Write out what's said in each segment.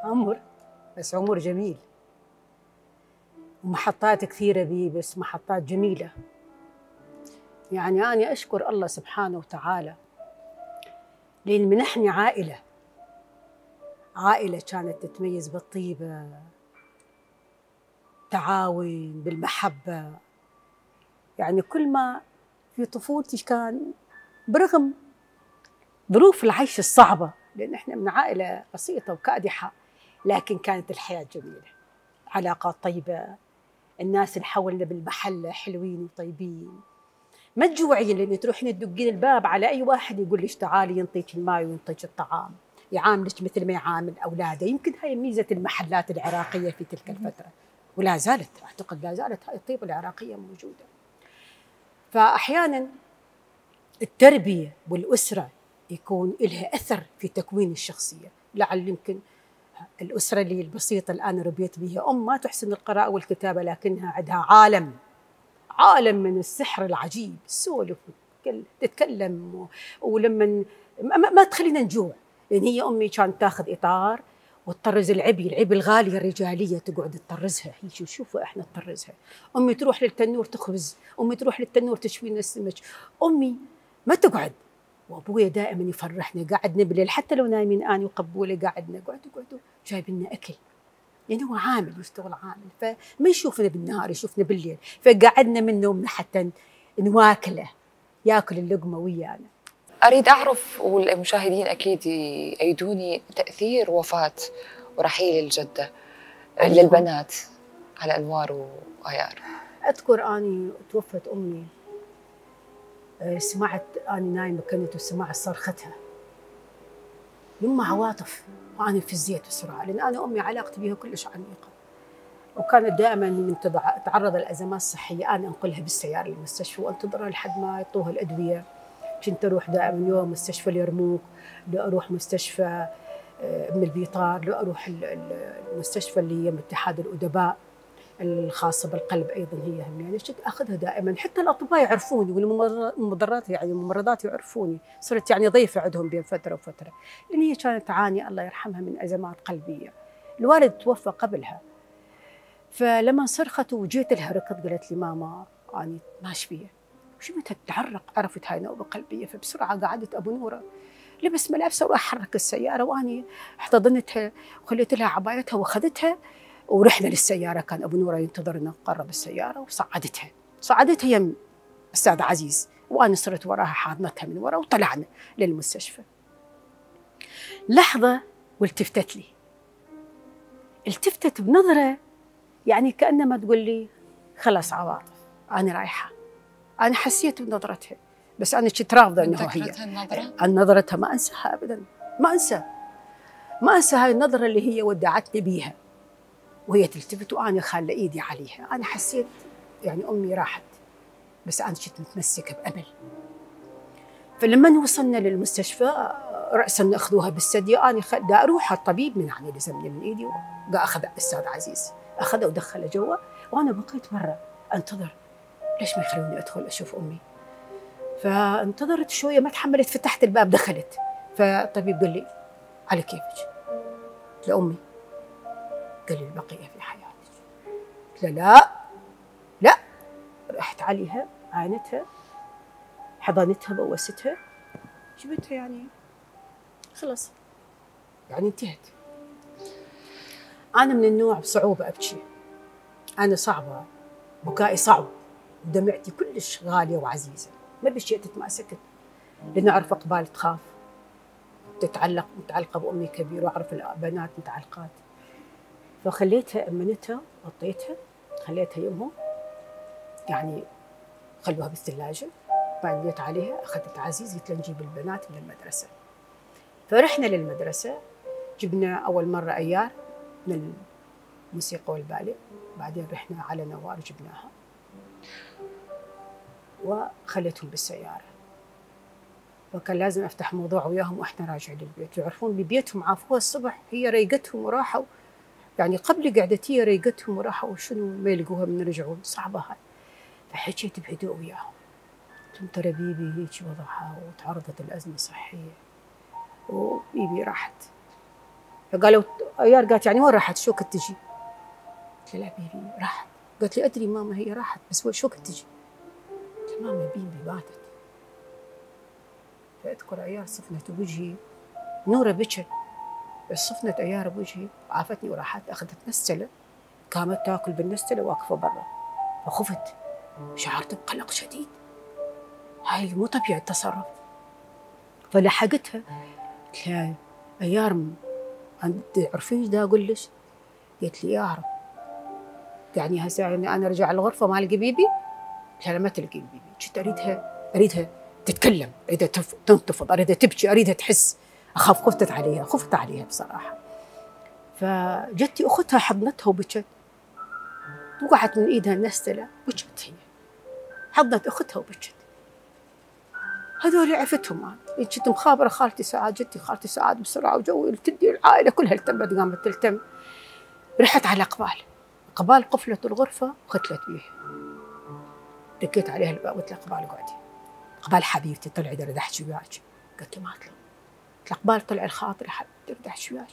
عمر، بس عمر جميل، ومحطات كثيرة بيه، بس محطات جميلة. يعني أنا أشكر الله سبحانه وتعالى لأن منحني عائلة كانت تتميز بالطيبة، تعاون، بالمحبة. يعني كل ما في طفولتي كان برغم ظروف العيش الصعبة، لأن إحنا من عائلة بسيطة وكادحة، لكن كانت الحياة جميلة، علاقات طيبة، الناس اللي حولنا بالمحلة حلوين وطيبين، ما تجوعين لأن تروحين تدقين الباب على أي واحد يقول لك تعالي ينطيك الماء وينطيك الطعام، يعاملك مثل ما يعامل أولاده. يمكن هاي ميزة المحلات العراقية في تلك الفترة، ولا زالت، أعتقد لا زالت هاي الطيبة العراقية موجودة. فأحياناً التربية والأسرة يكون لها أثر في تكوين الشخصية. لعل يمكن الأسرة اللي البسيطة الآن ربيت بها ما تحسن القراءة والكتابة، لكنها عندها عالم من السحر العجيب، تسولف تتكلم، ولما ما تخلينا نجوع، لأن هي أمي كانت تاخذ إطار وتطرز العبي الغالية الرجالية، تقعد تطرزها. هي شوفوا إحنا نطرزها. أمي تروح للتنور تخبز، أمي تروح للتنور تشوي لنا السمك، أمي ما تقعد. وأبويا دائما يفرحنا، قعدنا بالليل حتى لو نايمين أنا وقبولي قعدنا قعدوا جايب لنا أكل، يعني هو عامل يشتغل عامل، فما يشوفنا بالنهار يشوفنا بالليل، فقعدنا من نومنا حتى نواكله، ياكل اللقمة ويانا. أريد أعرف، والمشاهدين أكيد يأيدوني، تأثير وفاة ورحيل الجدة للبنات على أنوار وآيار. أذكر أني توفت أمي، سمعت أنا نايمة كنت وسمعت صرختها، يما عواطف، وأنا فزيت بسرعة، لأن أنا أمي علاقتي بها كلش عميقة، وكانت دائما من تتعرض لأزمات صحية أنا أنقلها بالسيارة للمستشفى وأنتظرها لحد ما يعطوها الأدوية. كنت أروح دائما يوم مستشفى اليرموك، لو أروح مستشفى ابن البيطار، لو أروح المستشفى اللي هي من اتحاد الأدباء الخاصة بالقلب أيضا هي هم، يعني كنت أخذها دائما. حتى الأطباء يعرفوني والممرضات، يعني الممرضات يعرفوني، صرت يعني ضيفة عندهم بين فترة وفترة، لأن هي كانت تعاني الله يرحمها من أزمات قلبية. الوالد توفى قبلها، فلما صرخت وجيت لها ركض قالت لي ماما أنا ما أشبيه، وشفتها تتعرق، عرفت هاي نوبة قلبية، فبسرعة قعدت أبو نورة لبس ملابسه وراح حرك السيارة، وأني احتضنتها وخليت لها عبايتها وأخذتها ورحنا للسيارة. كان أبو نورة ينتظرنا، قرب السيارة وصعدتها يم أستاذ عزيز، وأنا صرت وراها حاضنتها من ورا وطلعنا للمستشفى. لحظة والتفتت لي، التفتت بنظرة يعني كأنما تقول لي خلاص عواطف أنا رايحة. أنا حسيت بنظرتها، بس أنا كنت رافضة أنه هي النظرتها، ما أنساها أبدا، ما أنسى هاي النظرة اللي هي ودعتني بيها وهي تلتفت وأنا خالة إيدي عليها. أنا حسيت يعني أمي راحت، بس أنا كنت متمسكة بأمل. فلما وصلنا للمستشفى رأسا أخذوها بالثدي، أنا دا أروح الطبيب من يعني لزمني من إيدي، أخذ الأستاذ عزيز أخذه ودخله جوا، وأنا بقيت برا أنتظر ليش ما يخلوني أدخل أشوف أمي. فانتظرت شوية ما تحملت، فتحت الباب دخلت، فالطبيب قال لي على كيفك؟ قلت له أمي. قال لي البقية في حياتك. قلت له لا. رحت عليها عانتها، حضنتها، بوستها، جبتها، يعني خلص يعني انتهت. أنا من النوع بصعوبة أبكي، أنا صعبة، بكائي صعب، ودمعتي كلش غالية وعزيزة، ما بشيء تتماسكت، لأن أعرف أقبال تخاف متعلقة بأمي كبير، وأعرف البنات متعلقات. فخليتها، أمنتها، غطيتها، خليتها يمهم، يعني خلوها بالثلاجة. بعدين جيت عليها أخذت عزيز، قلت له نجيب البنات من المدرسة. فرحنا للمدرسة، جبنا أول مرة أيار من الموسيقى والبالي، بعدين رحنا على نوار جبناها وخليتهم بالسيارة. وكان لازم أفتح موضوع وياهم وإحنا راجعين للبيت، يعرفون ببيتهم عافوها الصبح، هي ريقتهم وراحوا، يعني قبل قعدتي ريقتهم وراحوا، وشنو ما يلقوها من رجعون، صعبة هاي. فحكيت بهدوء وياهم، قلت ترى بيبي هيك وضعها وتعرضت لأزمة صحية، وبيبي راحت فقالوا ايار، قالت يعني وين راحت؟ شو كنت تجي؟ قلت لها لا بيبي راحت. قالت لي ادري ماما هي راحت، بس شو كنت تجي؟ قلت لها ماما بيبي ماتت. فاذكر ايار صفنت بوجهي، نوره بكت، بس صفنت ايار بوجهي، عافتني وراحت اخذت نستله، قامت تاكل بالنستله واقفه برا. فخفت، شعرت بقلق شديد، هاي مو طبيعي التصرف. فلحقتها قلت لها ايار تعرفين ايش دا اقول لك؟ قالت لي اعرف. يعني هسه يعني انا ارجع الغرفه ما القي بيبي؟ قلت لها ما تلقين بيبي. كنت اريدها تتكلم، اريدها تنتفض، اريدها تبكي، اريدها تحس. اخاف، خفت عليها بصراحه. فجتي اختها حضنتها وبكت، وقعت من ايدها النستله، بكت هي، حضنت اختها وبكت. هذول عفتهم انا، كنت مخابره خالتي سعاد، جتي خالتي سعاد بسرعه وجوي تدي العائله كلها التمت، قامت تلتم. رحت على قبال قفلت الغرفه وختلت بيه. دقيت عليها الباب قلت لها قبال اقعدي. قبال حبيبتي طلعي اريد احكي وياك. قالت لي ما اطلع. قلت لها قبال طلعي الخاطري حبيبتي اريد احكي وياك.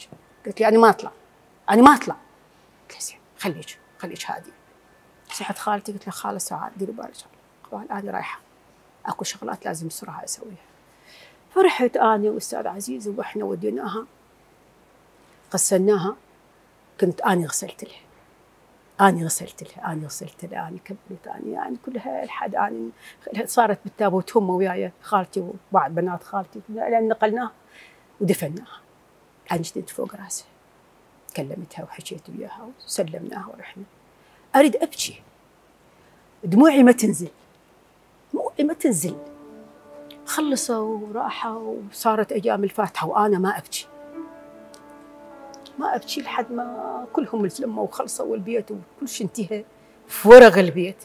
قالت لي انا ما اطلع. قلت لها زين خليك هاديه. صحت خالتي قلت لها خاله سعاد ديري بالك، قبال انا رايحه اكو شغلات لازم بسرعه اسويها. فرحت انا واستاذ عزيز واحنا وديناها غسلناها. كنت اني غسلت لها، اني كبرت، اني يعني كلها الحد اني صارت بالتابوت هم وياي خالتي وبعض بنات خالتي، لان نقلناها ودفناها. انا جدت فوق راسها، كلمتها وحكيت وياها وسلمناها ورحنا. اريد ابكي، دموعي ما تنزل. خلصوا وراحوا وصارت ايام الفاتحه وانا ما ابكي لحد ما كلهم تلموا وخلصوا والبيت وكل شيء انتهى. في ورق البيت